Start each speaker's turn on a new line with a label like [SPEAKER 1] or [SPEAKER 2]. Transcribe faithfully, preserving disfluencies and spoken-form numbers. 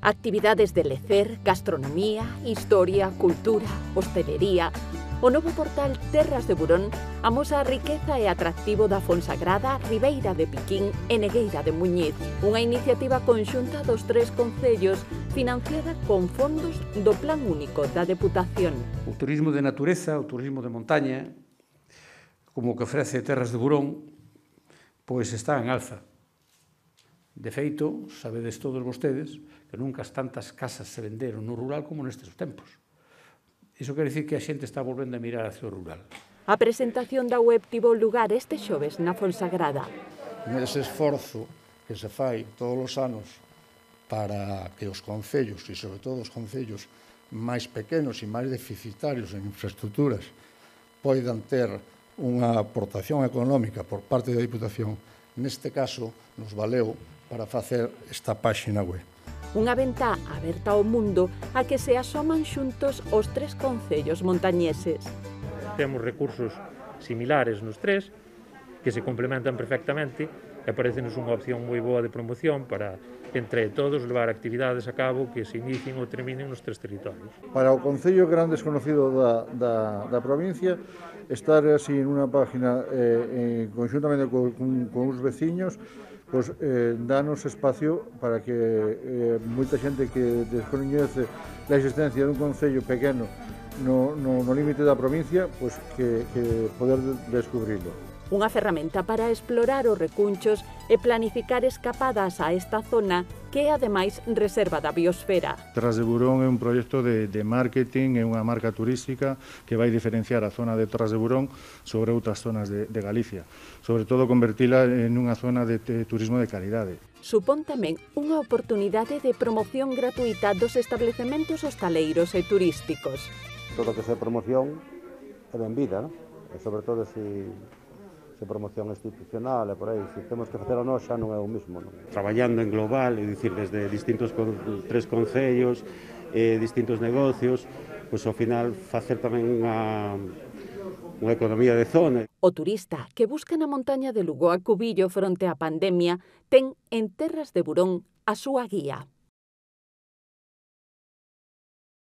[SPEAKER 1] Actividades de lecer, gastronomía, historia, cultura, hostelería. O novo portal Terras de Burón amosa a riqueza e atractivo da Fonsagrada, Ribeira de Piquín e Negueira de Muñiz, unha iniciativa conxunta dos tres concellos financiada con fondos do Plan Único da Deputación.
[SPEAKER 2] O turismo de natureza, o turismo de montaña, como o que ofrece Terras de Burón, pois está en alza. De feito, sabedes todos vostedes que nunca tantas casas se venderon no rural como nestes tempos. Iso quere dicir que a xente está volvendo a mirar hacia o rural.
[SPEAKER 1] A presentación da web tivo lugar este xoves na Fonsagrada.
[SPEAKER 3] Nese esforzo que se fai todos os anos para que os concellos, e sobre todo os concellos máis pequenos e máis deficitarios en infraestructuras, poidan ter unha aportación económica por parte da Diputación, neste caso nos valeu para facer esta páxina web.
[SPEAKER 1] Unha ventá aberta ao mundo a que se asoman xuntos os tres concellos montañeses.
[SPEAKER 4] Temos recursos similares nos tres, que se complementan perfectamente e parecenos unha opción moi boa de promoción para, entre todos, levar actividades a cabo que se inicien ou terminen nos tres territorios.
[SPEAKER 5] Para o concello gran desconocido da, da, da provincia, estar así en unha página eh, conjuntamente con, con, con os veciños, pues, eh, danos espacio para que eh, moita xente que descoñece a existencia dun concello pequeno no, no, no límite da provincia, pues, que, que poder descubrirlo.
[SPEAKER 1] Unha ferramenta para explorar os recunchos e planificar escapadas a esta zona que é, ademais, reserva da biosfera.
[SPEAKER 6] Terras de Burón é un proxecto de, de marketing, é unha marca turística que vai diferenciar a zona de Terras de Burón sobre outras zonas de, de Galicia. Sobre todo, convertila en unha zona de, de turismo de calidade.
[SPEAKER 1] Supón tamén unha oportunidade de promoción gratuita dos establecementos hostaleiros e turísticos.
[SPEAKER 7] Todo o que sea promoción é benvida, non? E sobre todo se... se promoción institucional e por aí, se temos que facer a nós xa non é o mesmo. Non?
[SPEAKER 8] Traballando en global, é dicir, desde distintos con, tres concellos, eh, distintos negocios, pois ao final facer tamén unha, unha economía de zona.
[SPEAKER 1] O turista que busca na montaña de Lugo a Cubillo fronte á pandemia ten en Terras de Burón a súa guía.